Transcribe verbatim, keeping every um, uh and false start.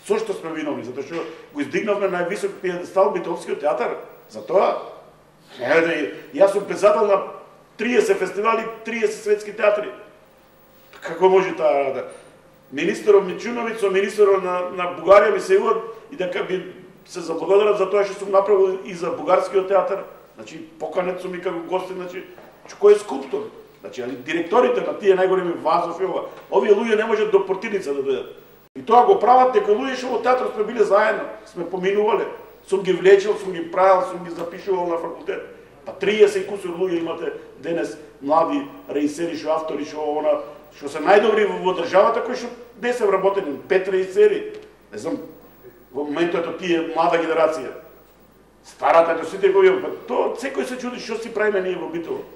Со што сме виновни? Затоа што го издигнавме на највисок пиедестал Битолскиот театар. За тоа, јас сум председател на триесет фестивали, триесет светски театри. Како може таа да? Министерот Мичуновиќ со министерот на, на Бугарија ми се јават и дека би се заблагодарат за тоа што сум направил и за бугарскиот театар. Значи, поканет сум и како гостин, значи, кој е скулптор? Значи, али директорите на тие најголеми Вазов и ова, овие луѓе не можат до Портиница да дојдат. И тоа го прават дека луѓе што во театрот сме биле заедно, сме поминувале. Сум ги влечил, сум ги правил, сум ги запишувал на факултет. Па триесет и кусур луѓе имате денес млади режисери, што автори, што она, што се најдобри во државата, кои што не се вработени, пет режисери. Не знам, во моментот ето тие млада генерација. Старата ето сите го имам, па тоа секој се чуди што си правиме ние во Битола.